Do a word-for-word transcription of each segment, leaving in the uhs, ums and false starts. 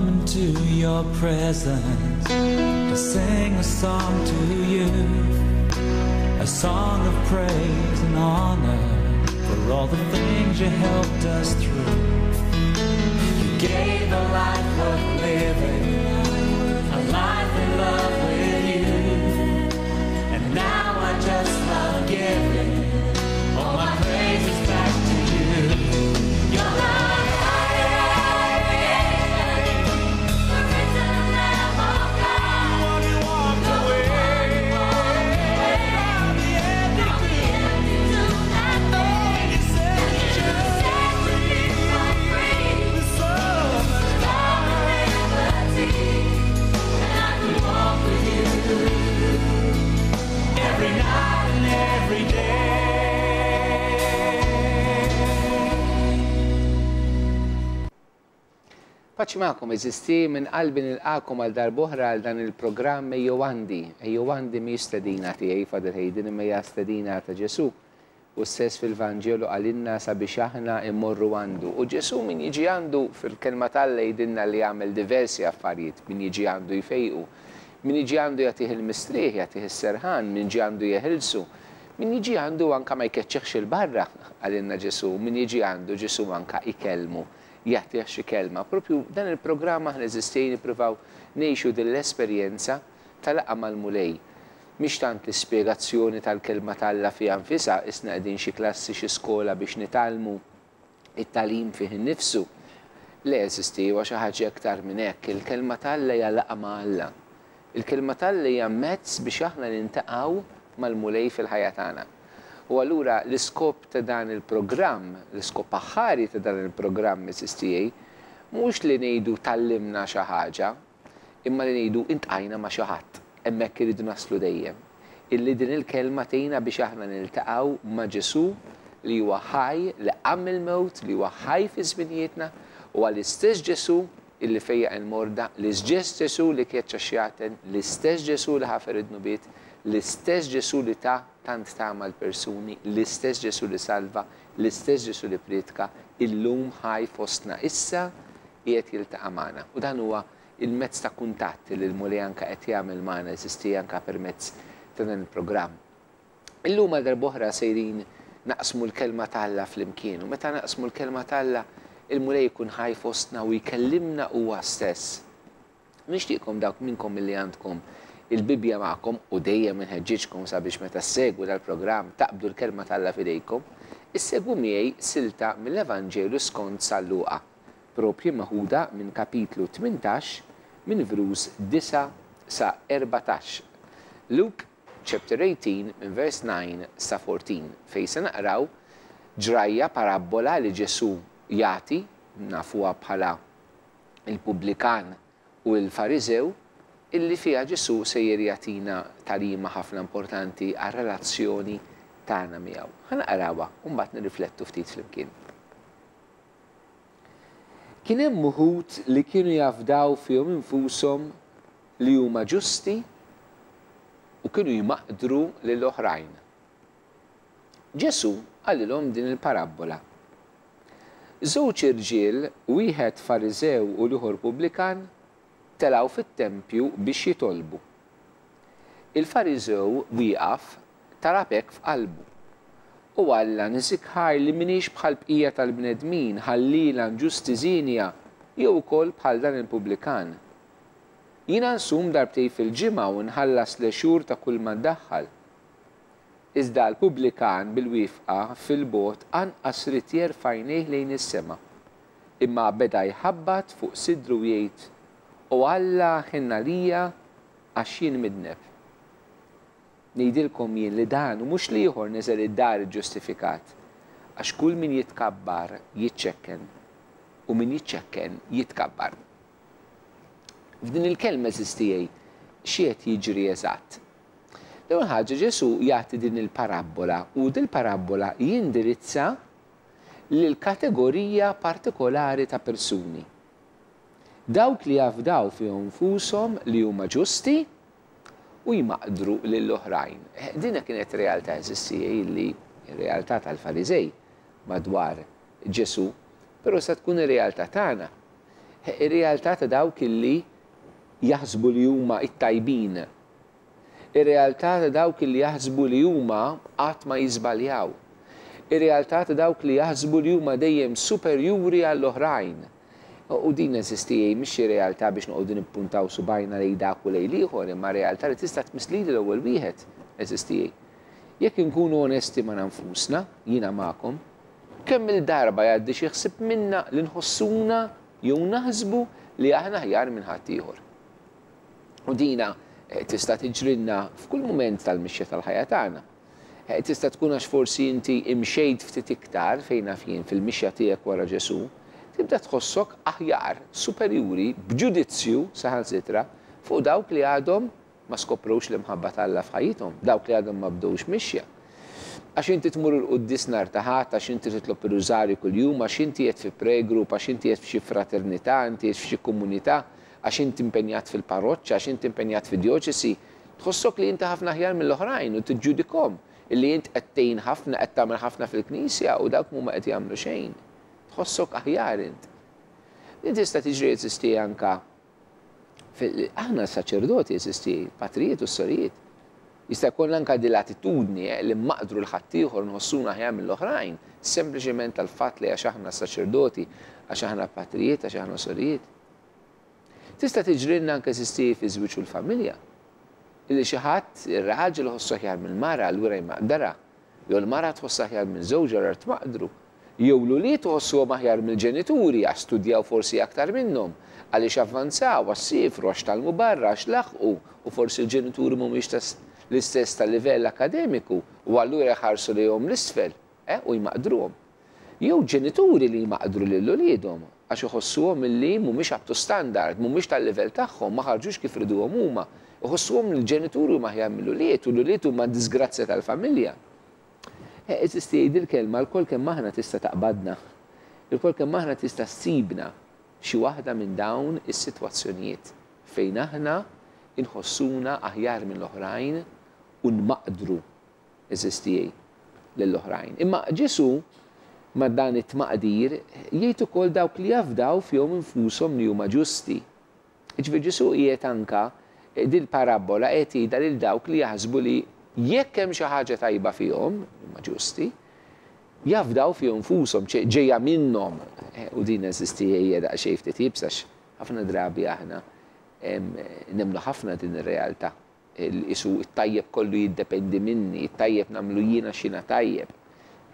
Come into your presence to sing a song to you, a song of praise and honor for all the things you helped us through. You gave a life worth living, a life in love with you, and now I just love giving all my praises back to you. You're the every night and every day. Paċi magħkom eżisti minn qalbi nilqakom għal darb'oħra għal dan il-programm Ejjew Għandi. Ejjew Għandi mhijiex stedina tiegħi Father Hayden imma hija stedina ta' Ġesù. U stess fil-Vanġelu qalilna sabiex aħna immorru għandu. U Ġesù min jiġi għandu fil-kelma t'Alla jgħidilna li jagħmel diversi affarijiet, min jiġi għandu jfejqu, min jiġi għandu jagħtih il-mistrieħ, jagħtih is-serħan, min jiġi għandu jeħilsu, min jiġi għandu anka ma jkeċċeħx il-barra, qalilna Ġesù, min jiġi għandu Ġesù anka ikellmu, jagħtih xi kelma. Propju dan il-programm aħna eżistejn nippruvaw ngħixu din l-esperjenza ta' laqgħa mal-Mulej. Mhix tant l-ispjegazzjoni tal-kelma t'Alla fiha nfisha, isna qegħdin xi klassi xi skola biex nitgħallmu it-tagħlim fih innifsu. Le eżisti huwa xi ħaġa iktar minn hekk. Il-kelma t'Alla hija laqgħa ma' Alla. Il-kelma t'Alla hija mezz biex aħna nintaqgħu mal-Mulej fil-ħajja tagħna. U allura l-iskop ta' dan il-programm, l-iskop aħħari ta' dan il-programm eżistijaj, mhux li ngħidu tallimna xi ħaġa, imma li ngħidu intqajna ma' xi ħadd. Hemmhekk iridu naslu dejjem. Illi din il-kelma tgħinna biex aħna niltaqgħu ma' Ġesù li huwa ħaj, li qam mill-mewt, li huwa ħaj fi żminijietna, u għall-istess Ġesù illi fejjaq il-morda, l-istess Ġesù li keċċa xjaten, l-istess Ġesù li ħafer id-dnubiet, l-istess Ġesù li ta tant tama l-persuni, l-istess Ġesù li salva, l-istess Ġesù li priedka, illum ħaj fostna issa qiegħed jiltaqa' magħna. U dan huwa il-mezz ta' kuntatt li l-Mulej anka qed jagħmel magħna eżisti anka permezz ta' dan il-programm. Illum għal darb'oħra sejrin naqsmu l-kelma t'Alla flimkien, u meta naqsmu l-kelma t'Alla il-Mulej jkun ħaj fostna u jkellimna huwa stess. Nixtieqkom dawk minnkom illi għandkom il-Bibbja magħkom, u dejjem inħeġġiġkom sabiex meta ssegwu dal-programm taqbdu l-kelma t'Alla f'idejkom, issegwu miegħi silta mill-Evanġelju skont San Luqa, propju meħuda minn kapitlu tmintax minn vrus disa' sa erbatax. Luke chapter eighteen minn verse nine sa fourteen, fejn se naqraw ġrajja parabbola li Ġesù jagħti, nafuha bħala il-pubblikan u l-Fariżew, illi fiha Ġesù sejjer jagħtina tagħlima ħafna importanti għar-relazzjoni tagħna miegħu. Ħa naqrawha u mbagħad nirriflettu ftit flimkien. Kien hemm uħud li kienu jafdaw fihom infushom li huma ġusti u kienu jmaqdru lil oħrajn. Ġesù qalilhom din il-parabbola. Żewġ irġiel, wieħed Fariżew u l-ieħor pubblikan, telgħu fit-tempju biex jitolbu. Il-Fariżew wieqaf talab hekk f'qalbu. U Alla niżikħaj li m'iniex bħal bqija tal-bnedmin, ħallila inġusti żienja, jew ukoll bħal dan il-pubblikan. Jiena nsum darbtej fil-ġimgħa u nħallas l-għexur ta' kull ma ddaħħal. Iżda l-pubblikan bil-wifqa fil-bogħod anqas ried jerfa' għajnejh lejn is-sema, imma beda jħabbat fuq sidru jgħid, O Alla ħenna lija għax jien midneb. Ngħidilkom jien li dan u mhux l-ieħor niżel id-dar iġġustifikat, għax kull min jitkabbar jiċċekken u min jiċċekken jitkabbar. F'din il-kelma eżistijaj xi qed jiġri eżatt. L-ewwel ħaġa Ġesù jagħti din il-parabbola u din il-parabbola jindirizza lil kategorija partikolari ta' persuni. Dawk li jafdaw fihom nfushom li huma ġusti u jmaqdru lil oħrajn. Dina kienet realtà eżistija li realtà tal-Fariżej madwar Ġesù, però se tkun ir-realtà tagħna. Ir-realtà ta' dawk illi jaħsbu li huma it-tajbin. Ir-realtà ta' dawk li jaħsbu li huma qatt ma jiżbaljaw. Ir-realtà ta' dawk li jaħsbu li huma dejjem superjuri għall-oħrajn. U din, għeżież tiegħi, mhix xi realtà biex noqogħdu nippuntaw subgħajna lejn dak u lejn l-ieħor, imma realtà li tista' tmiss lili l-ewwel wieħed, għeżież tiegħi. Jekk inkunu onesti ma' nfusna, jiena magħkom, kemm il-darba jgħaddi xi ħsieb minna li nħossuna jew naħsbu li aħna aħjar minn ħaddieħor? U dina eh, tista' tiġrilna f'kull mument tal-mixja tal-ħajja tagħna. Eh, tista' tkun għax forsi inti imxejt ftit iktar fejn naf jien fil-mixja tiegħek wara Ġesù, tibda tħossok aħjar, superjuri, b'ġudizzju saħansitra fuq dawk li għadhom ma skoprux l-imħabba t'Alla f'ħajjithom, dawk li għadhom ma bdewx mixja. Għax inti tmur il-quddies nhar ta' Ħadd, għax inti titlob ir-rużarju kuljum, għax inti qed fi prayer group, għax inti qed f'xi fraternità, inti qed f'xi komunità, għax inti impenjat fil-parroċċa, għax inti impenjat fid-djoċesi, tħossok li inti ħafna aħjar mill-oħrajn u tiġġudikhom illi int qed tgħin ħafna, qed tagħmel ħafna fil-Knisja u dawk mhuma qed jagħmlu xejn. Tħossok aħjar int. Din tista' tiġri, għeżież tiegħi, anka aħna saċerdoti, għeżież tiegħi, patrijiet u sorijiet. Jista' jkun anka din l-attitudni eh, li mmaqdru 'l ħaddieħor, nħossuna aħjar mill-oħrajn, sempliċement tal-fatt li għax aħna saċerdoti, għax aħna patrijiet, għax aħna sorijiet. Tista' tiġrilna anke, għeżież tiegħi, fi żwieġ u l-familja. Illi xi ħadd, ir-raġel iħossu aħjar mill-mara, allura jmaqdarha. Jew l-mara tħossha aħjar minn żewġha, allura tmaqdru. Jew l-ulied iħossuhom aħjar mill-ġenituri għax studjaw forsi aktar minnhom, għaliex avvanzaw, għax sifru, għax tgħallmu barra, għax laħqu, u forsi l-ġenituri mhumiex l-istess tal-livell akademiku u allura jħarsu lejhom 'l isfel eh, u jmaqdruhom. Jew ġenituri li jmaqdru lil uliedhom għax iħossuhom illi mhumiex up to standard, mhumiex tal-livell tagħhom, ma ħarġux kif riduhom huma. Iħossuhom li l-ġenituri huma aħjar mill-ulied u l-ulied huma disgrazzja tal-familja. Għeżież tiegħi, il-kelma lkoll kemm aħna tista' taqbadna. Ilkoll kemm aħna tista' ssibna xi waħda minn dawn is-sitwazzjonijiet fejn aħna inħossuna aħjar mill-oħrajn u nmaqdru, għeżież tiegħi, lill-oħrajn. Imma Ġesu ma' dan it-tmaqdir jgħid ukoll dawk li jafdaw fihom infushom li huma ġusti. Ġifieri Ġesu qiegħed anka dil-parabola qed jgħidha lil dawk li jaħsbu li jekk hemm xi ħaġa tajba fihom, huma ġusti, jafdaw fihom infushom, ġejja minnhom. Eh, u din, għeżież tiegħi, hija daqsxejn ftit iebsa, ħafna drabi aħna nemmnu ħafna din ir-realtà. Isu it-tajjeb kollu jiddependi minni, it-tajjeb nagħmlu jiena x'jiena tajjeb.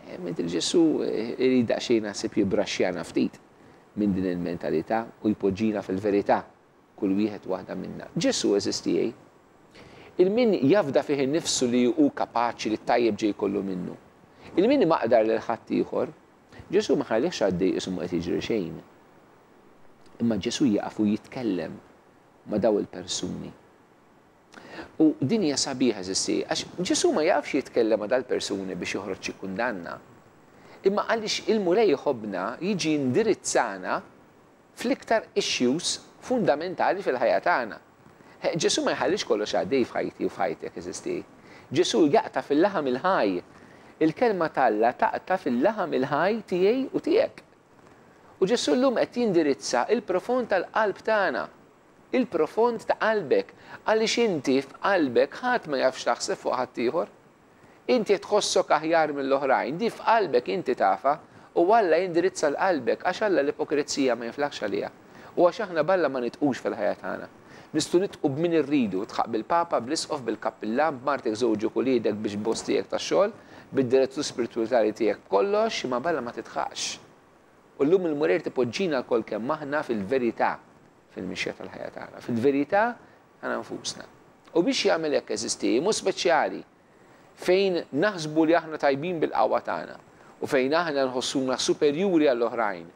Eh, mentre Ġesu eh, irid daqsxejn naħseb jibraxxjana ftit minn din il-mentalità u jpoġġina fil-verità kull wieħed waħda minna. Ġesu, għeżież tiegħi, lil min jafda fih nifsu li hu kapaċi, li tajjeb ġej kollu minnu. Lil min imaqdar lil ħaddieħor, Ġesu ma ħallihx għaddej qisu ma qed jiġri xejn. Imma Ġesu jaqaf u jitkellem ma' daw il-persuni. U din hija sabiħa, għeżież tiegħi, għax Ġesu ma jafx jitkellem ma' dal-persuni biex joħroġ xi kundanna. Imma għaliex il-Mulej jħobbna, jiġi indirizzana fl-iktar issues fundamentali fil-ħajja tagħna. Ġesu ma jħallix kollox għaddej f'ħajti u f'ħajtek, għeżież tiegħi. Ġesu jaqta' fil-laħam il-ħaj. Il-kelma t'Alla taqta' fil-laħam il-ħaj tiegħi u tiegħek. U Ġesu llum qed jindirizza il-profond tal-qalb tagħna. Il-profond ta' qalbek. Għaliex inti f'qalbek ħadd ma jafx taħseb fuq ħaddieħor. Inti tħossok aħjar mill-oħrajn, di f'qalbek inti tafha u Alla jindirizza 'l qalbek, għax Alla l-ipokrizija ma jiflaħx għaliha. U għax aħna b'Alla ma nidħqux fil-ħajja tagħna. Nistgħu nidħqu b'min irridu, tidħaq bil-Papa, bl-Isqof, bil-kappillan, b'martek, żewġek, uliedek, bil-boss tiegħek tax-xogħol, bid-direttur spirituali tiegħek, kollox, ma b'Alla ma tidħaqx. U llum il-Mulej ipoġġina lkoll kemm aħna fil-verità fil-mixja tal-ħajja tagħna, fil-verità tagħna nfusna. U biex jagħmel hekk, għeżież tiegħi, mhu speċjali fejn naħsbu li aħna tajbin bil-qawwa tagħna u fejn aħna nħossuna superjuri għall-oħrajn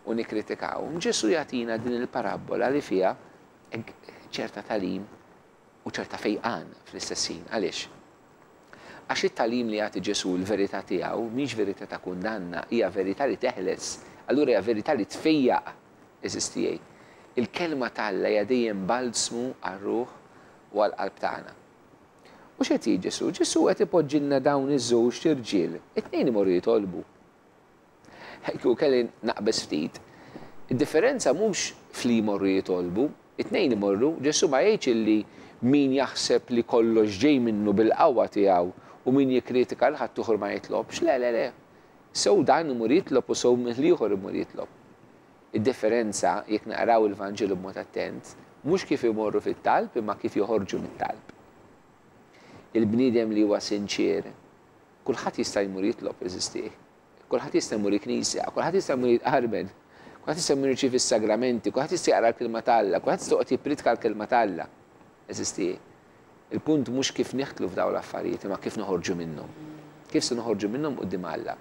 u nikkritikaw. Ġesu jagħtina din il-parabola li fiha ċerta tagħlim u ċerta fejqan fl-istess ħin. Għaliex? Għax it-tagħlim li jagħti Ġesu, l-verità tiegħu, mhix verità ta' kundanna, hija verità li teħles, allura hija verità li tfejjaq, għeżież tiegħi. Il-kelma t'Alla hija dejjem balsmu għar-ruħ u għall-qalb tagħna. U x'qed jgħid Ġesu? Ġesu qed ipoġġilna dawn iż-żewġ irġiel, it-tnejn imorru jitolbu. Kieku kelli naqbeż ftit, id-differenza mhux fli jmorru jitolbu. It-tnejn imorru, Ġesù ma jgħidx illi min jaħseb li kollox ġej minnu bil-qawwa tiegħu u min jikkritika lil ħaddieħor ma jitlobx. Le, le, le. Sew dan imur jitlob u sew l-ieħor imur jitlob. Id-differenza, jekk naqraw il-Vanġelu b'mod attent, mhux kif imorru fit-talb imma kif joħorġu mit-talb. Il-bniedem li huwa sinċier, kulħadd jista' jmur jitlob, eżisti. Kulħadd jista' jmur il-knisja, kulħadd jista' jmur jitqarben, kulħadd jista' jmur jirċievi s-sagramenti, kulħadd jista' jaqra l-kelma t'Alla, kulħadd jista' joqgħod jippriedka l-kelma t'Alla. Eżisti. Il-punt mhux kif nidħlu f'dawn l-affarijiet, imma kif noħorġu minnhom. Kif se noħorġu minnhom quddiem Alla.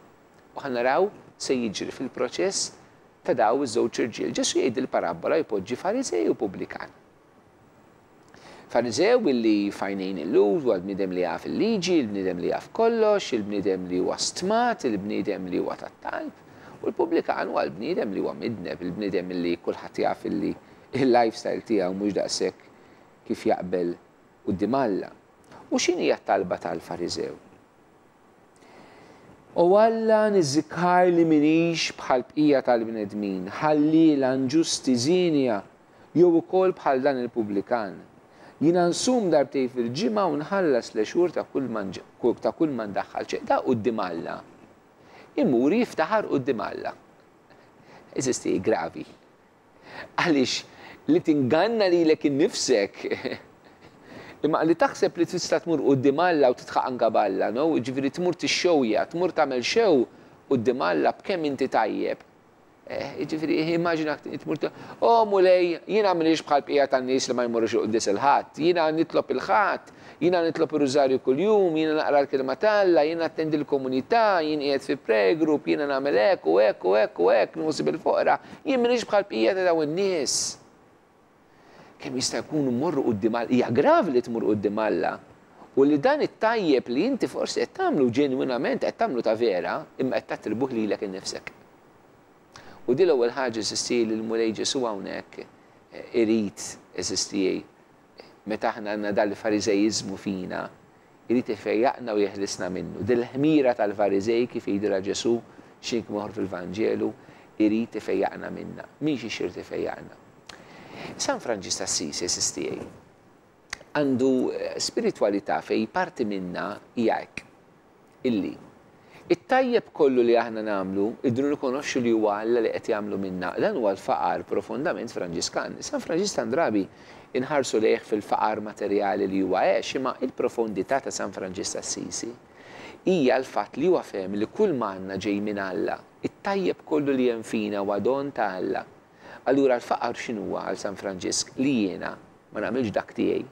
U ħa naraw se jiġri fil-proċess ta' daw iż-żewġ irġiel. Ġesù jgħid il-parabbola jpoġġi Fariżej u pubblikan. Fariżew illi f'għajnejn il-Lhud huwa l-bniedem li jaf il-liġi, il-bniedem li jaf kollox, il-bniedem li huwa stmat, il-bniedem li huwa tat-talb, u l-pubblikan huwa l-bniedem li huwa midneb, il-bniedem li kulħadd jaf illi il-lifestyle tiegħu mhux daqshekk kif jaqbel quddiem Alla. U x'inhi t-talba tal-Fariżew? O Alla, niżżikħajr li minix bħal bqija tal-bnedmin, ħalliela, inġusti, żienja, jew ukoll bħal dan il-pubblikan. Jiena nsum darbtejn fil-ġimgħa u nħallas l-għexur ta' kull ma nġ-, ta' kull ma ndaħħal. ċe, da quddiem Alla. Imur jiftaħar quddiem Alla. Eżisti gravi. Għaliex li tinganna lilek innifsek, imma li taħseb li tista' tmur quddiem Alla u titħaq anka b'Alla, no? Ġifieri tmur tixxewja, tmur tagħmel xew quddiem Alla b'kemm inti tajjeb. Eh, ġifieri, immaġina tmur t-, oh Mulej, jiena m'iniex bħal bqija tan-nies li ma jmorrux quddies il-Ħadd, jiena nitlob il-Ħadd, jiena nitlob ir-Rużarju kuljum, jiena naqra l-kelma t'Alla, jiena attendi l-komunità, jien qiegħed fi prayer group, jiena nagħmel hekk u hekk u hekk u hekk, nħossib il-foqra, jien m'iniex bħal bqija ta' dawn in-nies. Kemm jista' jkun mmorru quddiem Alla, hija gravi li tmur quddiem Alla. U li dan it-tajjeb li inti forsi qed tagħmlu ġenwinament, qed tagħmlu ta' vera, imma qed tattribuh lilek innifsek. U di l-ewwel ħaġa eżisti li l-Mulej Ġesù hawnhekk, eh, irid eżisti meta aħna għandna dal-fariżejiżmu fina, irid ifejjaqna u jeħlisna minnu. Dil-ħmira tal-Fariżej kif jgħidilha Ġesù xi moħor fil-Vanġelu, irid ifejjaqna minna. Min xi xirid ifejjaqna? San Franġisk t'Assisi eżisti għandu, eh, spiritualità fej parti minna hija hekk. Illi it-tajjeb kollu li aħna nagħmlu, idru nikonoxxu li huwa Alla li qed jagħmlu minna. Dan huwa l-faqar profondament Franġiskan. San Franġisk Andrabi inħarsu lejh fil-faqar materjali li huwa għex, imma il-profondità ta' San Franġisk t'Assisi hija l-fatt li huwa fehem li kull ma għandna ġej minn Alla, it-tajjeb kollu li hemm fina huwa don ta' Alla. Allura l-faqar x'inhuwa għal San Franġisk? Li jiena ma nagħmilx dak tiegħi,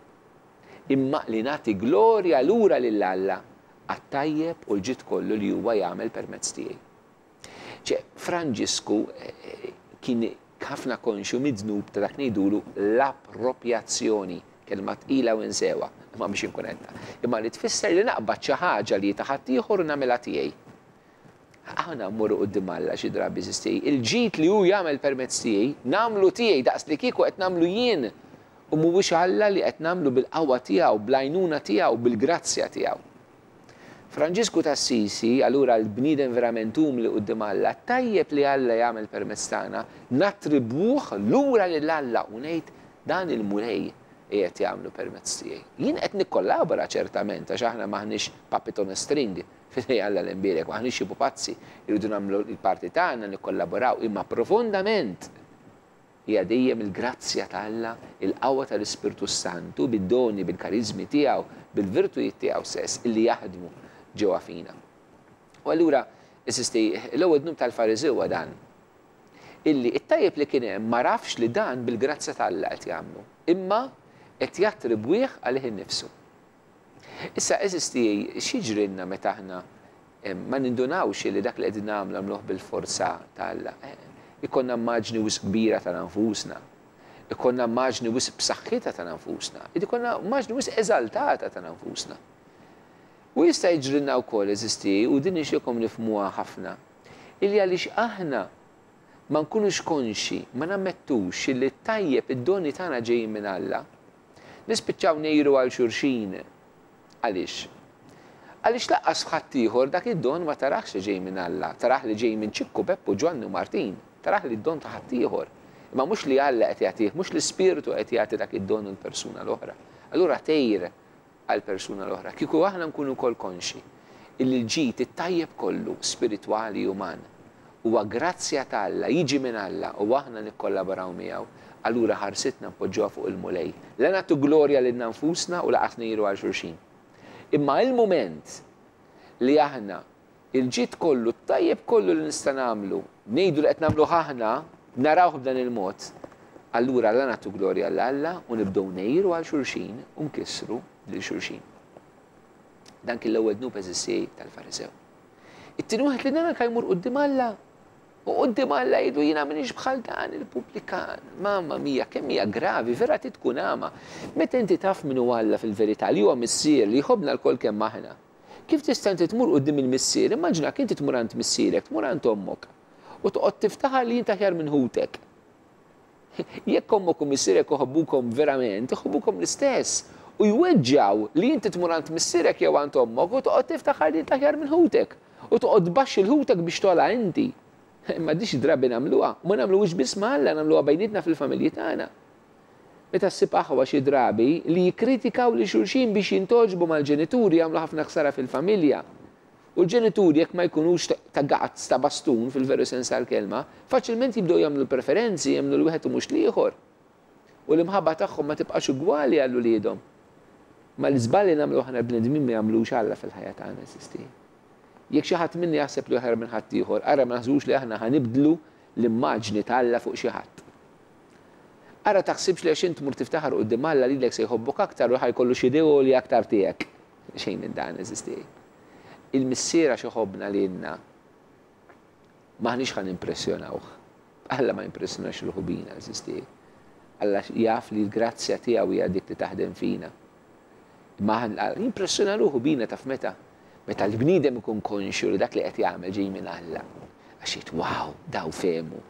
imma li nagħti glorja lura lil Alla għat-tajjeb u l-ġid kollu li huwa jagħmel permezz tiegħi. Ċe, Franġisku, eh, eh, kien ħafna konxju mid-dnub ta' dak ngħidulu l-appropjazzjoni, kelma tqila u nsewa, imma biex inkun qed. Imma li tfisser li naqbad xi ħaġa li ta' ħaddieħor u nagħmilha tiegħi. Aħna mmorru quddiem Alla xi drabi eżisti. Il-ġid li hu jagħmel permezz tiegħi, nagħmlu tiegħi daqs li kieku qed nagħmlu jien. U mhuwiex Alla li qed nagħmlu bil-qawwa tiegħu, bl-għajnuna tiegħu, bil-grazzja tiegħu. Franġisku t'Assisi, allura l-bniedem verament umli quddiem Alla, tajjeb li Alla jagħmel permezz tagħna, nattribwuh lura lil Alla u ngħid dan il-Mulej qiegħed jagħmlu permezz tiegħi. Jien qed nikkollabora ċertament għax aħna m'aħniex puppet on a string f'idej Alla l-imbierek, m'aħniex xi pupazzi, irridu nagħmlu l-parti tagħna nikkollaboraw, imma profondament hija dejjem il-grazzja ta' Alla, il-qawwa tal-Ispirtu Santu bid-doni, bil-karizmi tiegħu, bil-virtujiet tiegħu stess illi jaħdmu ġewwa fina. U allura, eżisti, l-ewwel dnub tal-Fariżew huwa dan, illi it-tajjeb li kien hemm ma rafx li dan bil-grazzja ta' Alla qed jagħmlu, imma qed jattribwih għalih innifsu. Issa, eżisti, x'jiġrilna meta aħna, eh, ma nindunawx li dak li qegħdin nagħmlu nagħmluh bil-forza ta' Alla? Eh, ikonna immaġni wisq kbira ta' nfusna, ikonna immaġni wisq b'saħħitha ta' nfusna, ikonna immaġni wisq eżaltata ta' nfusna. U jista' jiġrilna wkoll, eżisti, u din nixtieqkom nifhmuha ħafna, illi għaliex aħna ma nkunux konxi, ma nammettux li t-tajjeb id-doni tagħna ġejjin minn Alla, nispiċċaw ngħiru għal xulxin. Għaliex? Għaliex laqqas f'ħaddieħor dak id-don ma tarax li ġej minn Alla, tarax li ġej minn Ċikku, Peppu, Ġwanni u Martin, tarax li d-don ta' ħaddieħor. Imma mhux li Alla qed jagħtih, mhux l-Ispirtu qed jagħti dak id-don l-persuna l-oħra. Allura tgħir għall-persuna l-oħra. Kieku aħna nkunu wkoll konxi illi l-ġid it-tajjeb kollu spiritwali uman huwa grazzja ta' Alla, jiġi minn Alla u aħna nikkollaboraw miegħu, allura ħarsitna npoġġuha fuq il-Mulej. La nagħtu glorja lilna nfusna u lanqas ngħiru għal xulxin. Imma il-moment li aħna il-ġid kollu, t-tajjeb kollu li nista' nagħmlu, ngħidu li qed nagħmlu aħna, narawh b'dan il-mod, allura la nagħtu glorja lil Alla u nibdew ngħiru għal xulxin u nkissru lil xulxin. Dan kien l-ewwel dnub, għeżież tiegħi, tal-Farisew. It-tieni wieħed li dan anke jmur quddiem Alla. U quddiem Alla jgħidu: "Jiena m'iniex bħal dan il-pubblikan." Mamma mia, kemm hija gravi, vera tkun għama. Meta inti taf min hu Alla fil-verità, li huwa missier li jħobbna lkoll kemm aħna. Kif tista' inti tmur quddiem il-missier? Immaġina inti tmur għand missierek, tmur għand ommok u toqgħod tiftaħar li inti aħjar minn ħutek. Jekk ommok u missierek iħobbukom verament, iħobbukom l-istess. U jweġġaw li inti tmur għand missierek jew għand ommok u toqgħod tiftaħar li inti aħjar minn ħutek. U toqgħod tbaxxi 'l ħutek biex togħla inti. Imma di xi drabi nagħmluha, u ma nagħmluhiex biss ma' Alla, nagħmluha bejnietna fil-familji tagħna. Meta ssib aħwa xi drabi li jikkritikaw lil xulxin biex jintogħġbu mal-ġenituri, jagħmlu ħafna ħsara fil-familja. U l-ġenituri, jekk ma jkunux ta' gazz, ta' bastun fil-veru sens tal-kelma, faċilment jibdew jagħmlu preferenzi, jagħmlu 'l wieħed u mhux l-ieħor. U l-imħabba tagħhom ma tibqax ugwali għal uliedhom. Ma l-iżballi nagħmlu aħna bnedmin ma jagħmlux Alla fil-ħajja tagħna, għeżież tiegħi. Jekk xi ħadd minni jaħseb li aħjar minn ħadd ieħor, ara ma naħsbux li aħna ħa nibdlu l-immaġni ta' Alla fuq xi ħadd. Ara taħsibx li għax int tmur tiftaħar quddiem Alla lilek se jħobbok aktar u ħa jkollu xi li aktar tiegħek. Xejn minn dan, għeżież tiegħi. Il-missier għax iħobbna lilna m'aħniex ħa nimpressjonawh. Alla ma jimpressjonax ruħu bina, għeżież tiegħi. Alla jaf li l-grazzja tiegħu hija dik li taħdem fina. Ma jimpressjona ruħu bina taf meta? Meta l-bniedem ikun konxju li dak li qed jagħmel ġej minn Alla. Għax jgħid: "Wow, daw fehmu.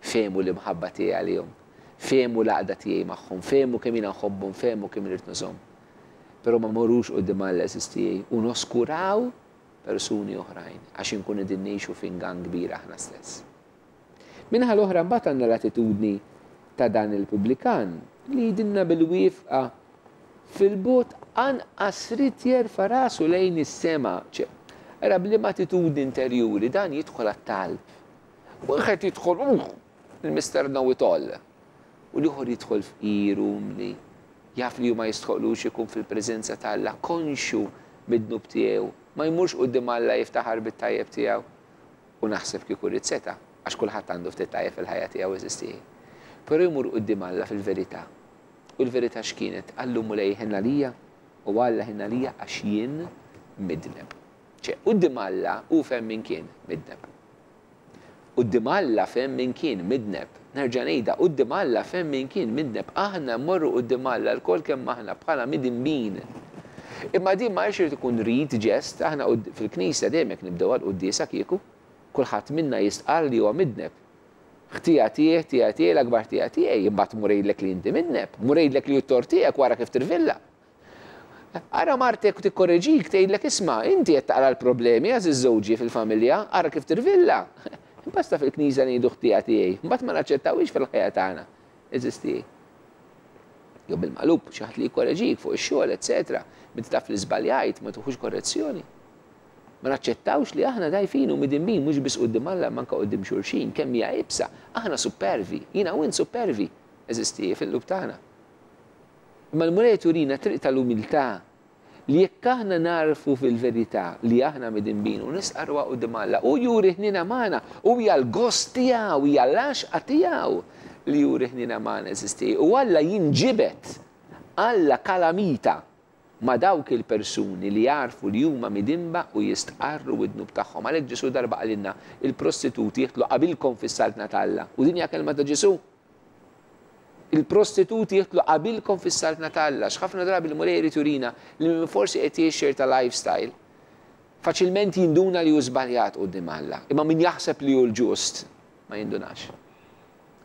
Fehmu l-imħabba tiegħi għalihom. Fehmu l-għaqda tiegħi magħhom, fehmu kemm jiena nħobbhom, fehmu kemm irid nużhom." Però ma mmorrux quddiem Alla, għeżież tiegħi, u noskuraw persuni oħrajn għax inkun qegħdin ngħixu f'ingann kbir aħna stess. Min-naħa l-oħra mbagħad għandna l-attitudni ta' dan il-pubblikan li jgħidilna bil-wieqfa fil-bogħod anqas ried jerfa' rasu lejn is-sema. Ara b'liema attitudni interjuri dan jidħol għat-talb. Wieħed jidħol uh, il-Mister Know It All. U l-ieħor jidħol fqir, umli, jaf li ma jistħoqlux ikun fil-preżenza ta' Alla, konxju mid-dnub tiegħu, ma jmurx quddiem Alla jiftaħar bit-tajjeb tiegħu. U naħseb kieku ried seta', għax kulħadd għandu ftit tajjeb fil-ħajja tiegħu, għeżież tiegħi. Però jmur quddiem Alla fil-verità. U l-verità x'kienet? Qallu: "Mulej, ħenn għalija, u Alla ħenn għalija għax jien midneb." ċe, quddiem Alla hu fehem min kien midneb. Quddiem Alla fehem min kien midneb. Nerġa' ngħidha, quddiem Alla fehem min kien midneb. Aħna mmorru quddiem Alla lkoll kemm aħna bħala midinbin. Imma din ma jrid ikun rit ġest, aħna fil-knisja dejjem jekk nibdew għal-quddiesa kieku, kulħadd minna jistqarr li huwa midneb. Ħtija tiegħi, ħtija tiegħi, l-akbar ħtija tiegħi, imbagħad mur għidlek li inti midneb, mur għidlek li t-tort tiegħek wara kif tirvilla. Ara martek tikkorreġik, tgħidlek: "Isma', inti qed taqra l-problemi, għażiż żewġi fil-familja, ara kif tirvilla." Basta fil-knisja ngħidu ħtija tiegħi, mbagħad ma naċċettawix fil-ħajja tagħna. Għeżież tiegħi. Jew bil-maqlub, xi ħadd li jkorreġik fuq ix-xogħol, eċetera. Meta taf li żbaljajt, ma tuħux korrezzjoni. Ma naċċettawx li aħna dgħajfin u midinbin mhux biss quddiem Alla manka quddiem xulxin, kemm hija iebsa, aħna supervi, jiena u int supervi, għeżież tiegħi, fil-qlub tagħna. Imma l-Mulej turina triq tal-umiltà li jekk aħna narfu fil-verità li aħna midinbin u nistqarruha quddiem Alla u juri ħnina magħna, u hija l-gost tiegħu, hija l-għaxqa tiegħu li juri ħnina magħna, għeżież tiegħi. U Alla jinġibed, Alla kalamita ma' dawk il-persuni li jarfu li huma midinba u jistqarru id-dnub tagħhom. Għalhekk Ġesu darba qalilna: "Il-prostituti jidħlu qabilkom fis-saltna ta' Alla." U din hija kelma ta' Ġesu. "Il-prostituti jidħlu qabilkom fis-saltna ta' Alla." X'ħafna drabi l-Mulej irid jurina li min forsi qed jgħix ta' lifestyle faċilment jinduna li hu żbaljat quddiem Alla. Imma min jaħseb li hu l-ġust ma jindunax.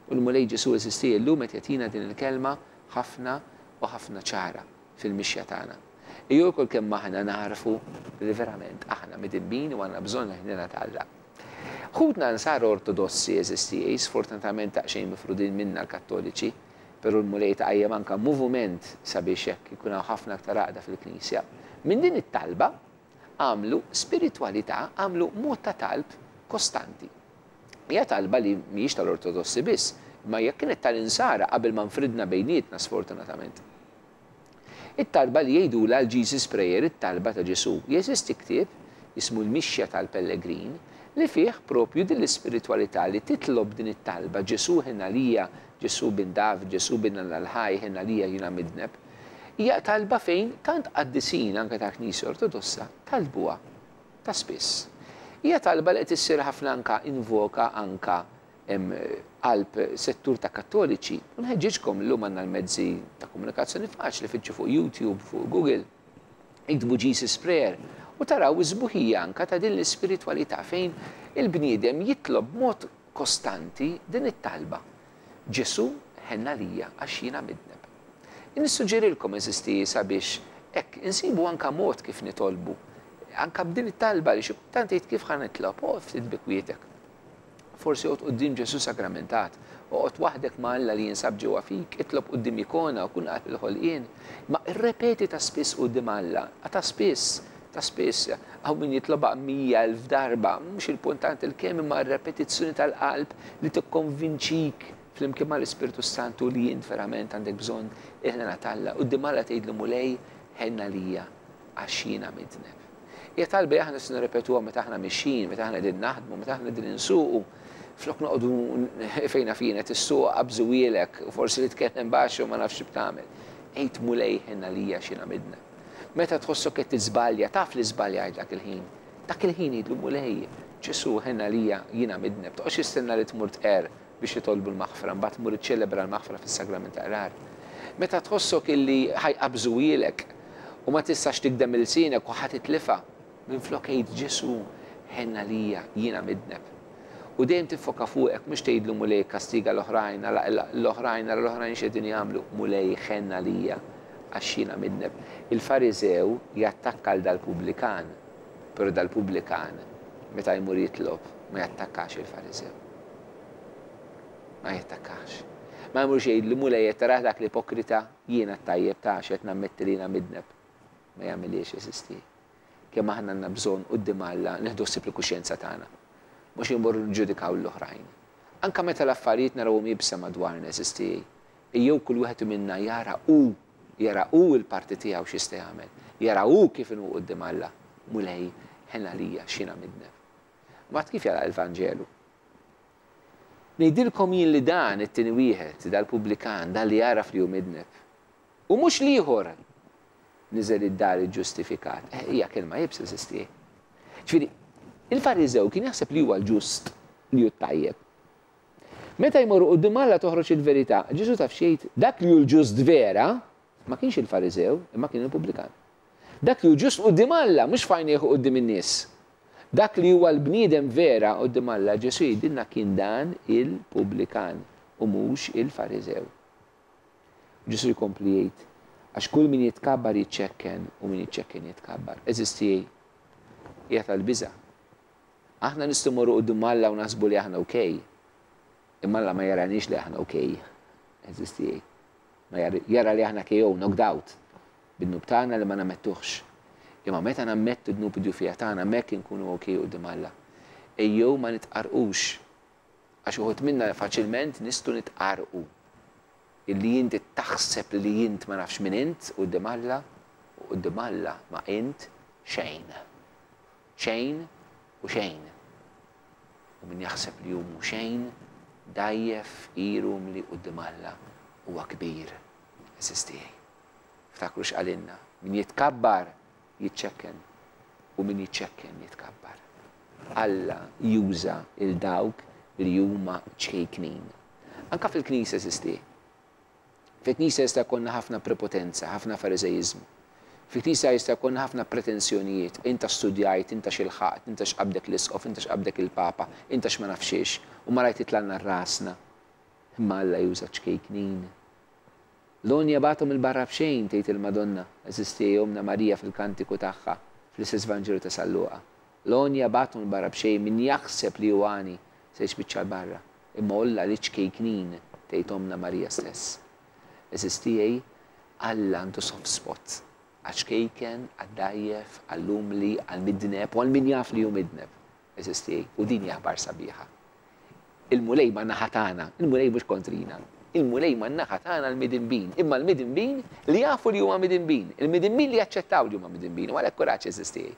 U l-Mulej Ġesu, għeżież tiegħi, llum qed jagħtina din il-kelma ħafna u ħafna ċara fil-mixja tagħna. Ejjew lkoll kemm aħna narfu li verament aħna midinbin u għandna bżonn ħnina ta' Alla. Ħutna Nsara Ortodossi, għeżież tiegħi, sfortunatament daqsxejn mifrudin minna l-Kattoliċi, però l-Mulej tqajjem anka moviment sabiex hekk ikun hawn ħafna aktar għaqda fil-Knisja. Minn din it-talba għamlu spiritwalità, għamlu mod ta' talb kostanti. Hija talba li mhijiex tal-Ortodossi biss, imma hija kienet tal-Insara qabel ma nfridna bejnietna, sfortunatament. It-talba li jgħidulha l-Jesus Prayer, it-talba ta' Ġesù. Jeżisti ktieb jismu l-Mixja tal-Pellegrin li fih propju din l-ispiritwalità li titlob din it-talba: Ġesù ħenn għalija, Ġesù bin David, Ġesù bin Alla l-ħaj, ħenn għalija, jiena midneb. Hija talba fejn tant qaddisin anke ta' Knisja Ortodossa talbuha ta' spiss. Hija talba li qed issir ħafna anka invoka anka qalb settur ta' Kattoliċi. U nħeġġiġkom, llum għandna l-mezzi ta' komunikazzjoni faċli, fittxu fuq YouTube, fuq Google, iktbu Jesus Prayer u taraw iż-sbuħija anka ta' din l-ispiritwalità fejn il-bniedem jitlob mod kostanti din it-talba: Ġesù ħenn għalija għax jiena midneb. Nissuġġerilkom, għeżież tiegħi, sabiex hekk insibu anka mod kif nitolbu. Anka b'din it-talba li xi kultant tgħid, "Kif ħa nitlob?" Oqgħod ftit bi kwietek. Forsi oqgħod quddiem Ġesù sagramentat, oqgħod waħdek ma' Alla li jinsab ġewwa fik, itlob quddiem ikona u kun qalb il-ħolqien. Ma irrepeti ta' spiss quddiem Alla, ta' spiss, ta' spiss, hawn min jitlobha mija elf darba, mhux il-punt il-kemm, imma r-repetizzjoni tal-qalb li tikkonvinċik flimkien mal-Ispirtu Santu li jint verament għandek bżonn il-ħniena t'Alla. Quddiem Alla tgħidlu: "Mulej, ħenn għalija għax jiena midneb." Hija talba aħna se nirrepetuha meta aħna mixjin, meta aħna qegħdin naħdmu, meta aħna qegħdin insuqu. Flok noqogħdu fejna fina tissuq qabżuhielek u forsi li tkellem baxx u ma nafx x'tagħmel. Għid: "Mulej, ħenn għalija għax jiena midneb." Meta tħossok qed tiżbalja, taf li żbaljajt dak il-ħin. Dak il-ħin għidlu: "Mulej, Ġesu, ħenn għalija, jiena midneb." Toqgħodx jistenna li tmur tqerr biex jitolbu l-maħfra, mbagħad tmur iċċelebra l-maħfra fis-sagrament ta' qrar. Meta tħossok illi ħa jaqbżuhielek u ma tistax tigdem ilsienek u ħa titlifha, minflok għid: "Ġesu, ħenn għalija, jiena midneb." U dejjem tiffoka fuqek, mhux tgħidlu: "Mulej, kastiga l-oħrajn, l-oħrajn, l-oħrajn x'qegħdin jagħmlu." "Mulej, ħenn għalija għax jiena midneb." Il-Fariżew jattakka l dal-pubblikan, però dal-pubblikan meta jmur jitlob ma jattakkax il-Fariżew. Ma jattakkax. Ma jmurx jgħidlu: "Mulej, tara dak l-ipokrita, jiena tajjeb ta' qed nammetti li jiena midneb." Ma jagħmilx, għeżież tiegħi. Kemm aħna għandna bżonn quddiem Alla nieħdu ħsieb il-kuxjenza tagħna. Mhux immorru nġudikaw l-oħrajn. Anka meta l-affarijiet narawhom iebsa madwarna, għeżież tiegħi, ejjew kull wieħed minna jara u jara u l-parti tiegħu x'jista' jagħmel. Jara u kif inhu quddiem Alla. "Mulej, ħenn għalija x'jiena midneb." Mbagħad kif jara l-Vanġelu? "Ngħidilkom jien li dan it-tieni wieħed, dal-pubblikan, dan li jaraf li hu midneb. U mhux l-ieħor niżel id-dar ġustifikat." Eh, hija kelma iebsa, għeżież tiegħi. Ġifieri, il-Fariżew kien jaħseb li huwa l-ġust, li hu tajjeb. Meta jmorru quddiem Alla toħroġ il-verità, Ġesu taf xejt, dak li hu l-ġust vera ma kienx il-Fariżew, imma kien il-pubblikan. Dak li hu ġust quddiem Alla, mhux f'għajnejh quddiem in-nies. Dak li huwa l-bniedem vera quddiem Alla, Ġesu jgħidilna, kien dan il-pubblikan u mhux il-Fariżew. Ġesu jkompli jgħid, għax kull min jitkabbar jiċċekken u min jiċċekken jitkabbar. Għeżież tiegħi, hija tal-biża'. Aħna nistgħu mmorru quddiem Alla u naħsbu li aħna okej. Imma Alla ma jaraniex li aħna okej. Għeżież tiegħi. Ma jara li aħna K O, knocked out. Bid-dnub tagħna li ma nammettuhx. Imma meta nammettu d-dnub, id-djufija tagħna, hemmhekk inkunu okej quddiem Alla. Ejjew ma nitqarqux. Għax uħud minna faċilment nistgħu nitqarqu. Illi inti taħseb li int ma nafx min int quddiem Alla, u quddiem Alla ma int xejn. Xejn u xejn. U min jaħseb li hu xejn, dgħajjef, fqir, umli quddiem Alla, huwa kbir. Għeżież tiegħi. Ftakru x'qalilna: min jitkabbar jiċċekken u min jiċċekken jitkabbar. Alla juża 'l dawk li huma ċkejknin. Anka fil-Knisja, għeżież tiegħi. Fil-Knisja jista' jkollna ħafna prepotenza, ħafna fariżejiżmu. Fil-Knisja jista' jkollna ħafna pretensjonijiet. Inta studjajt, inta x'ilħaqt, inta x'qabdek l-isqof, inta x'qabdek il-papa, inta x'ma nafxiex, u ma rajt jitlagħlna rasna. Imma Alla juża ċkejknin. L-għonja bagħathom 'il barra b'xejn, tgħid il-Madonna, għeżież tiegħi, Ommna Marija, fil-kantiku tagħha, fl-istess Vanġelu ta' San Luqa. L-għonja bagħathom 'l barra b'xejn, min jaħseb li hu għani se jispiċċa 'l barra. Imma għolla liċ-ċkejknin, tgħid Ommna Marija stess. Għeżież tiegħi, Alla għandu soft spot għaċ-ċkejken, għad-dgħajjef, għall-umli, għall-midneb u għal min jaf li hu midneb. Għeżież tiegħi, u din hi aħbar sabiħa. Il-Mulej man-naħa tagħna, il-Mulej mhux kontrina. Il-Mulej man-naħa tagħna l-midinbin, imma l-midinbin li jafu li huma midinbin, il-midinbin li jaċċettaw li huma midinbin, u għalhekk kuraġġ, għeżież tiegħi.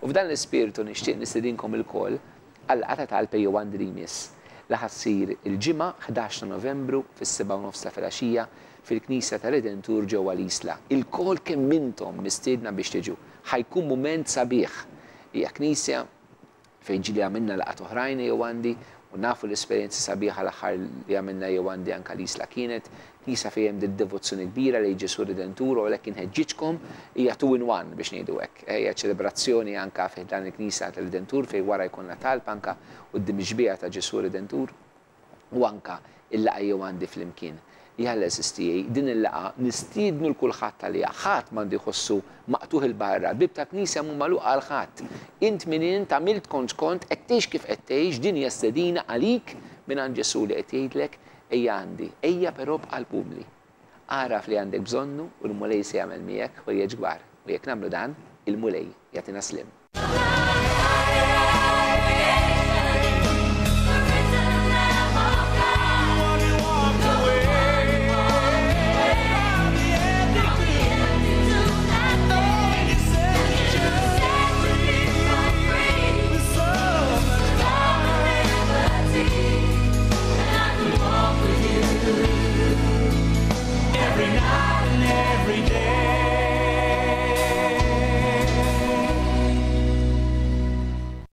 U f'dan l-ispirtu nixtieq nistedinkom ilkoll għal-laqgħa ta' talb Ejjew Għandi li jmiss, li ħa ssir il-Ġimgħa ħdax ta' Novembru fis-sebgħa u nofs ta' filgħaxija fil-Knisja tar-Redentur ġewwa l-Isla. Ilkoll kemm intom mistiedna biex tiġu. Ħa jkun mument sabiħ. Hija knisja fejn ġieli għamilna laqgħat oħrajn Ejjew Għandi u nafu l-esperjenza sabiħa. L-aħħar li għamilna Ejjew Għandi anka l-Isla kienet knisja fejn hemm devozzjoni kbira lejn Ġesù Redentur u għalhekk inħeġġiġkom. Hija two in one biex ngħidu hekk. Hija ċelebrazzjoni anka fi dan il-Knisja tal-Redentur fejn wara jkollna talb anka quddiem ix-xbieha ta' Ġesù Redentur u anka il-laqgħa Ejjew Għandi flimkien. Jalla, għeżież tiegħi, din il-laqgħa nistiednu 'l kulħadd għaliha, ħadd m'għandu jħossu maqtugħ 'il barra, bieb ta' knisja mhu magħluq għal ħadd. Int min int, għamilt kont kont, qed tgħix kif qed tgħix, din hija stedina għalik minn Ġesù li qed jgħidlek: "Ejja għandi, ejja però b'qalb umli." Agħraf li għandek bżonnu u l-Mulej se jagħmel miegħek ħwejjeġ kbar. U jekk nagħmlu dan, il-Mulej jagħtina sliem.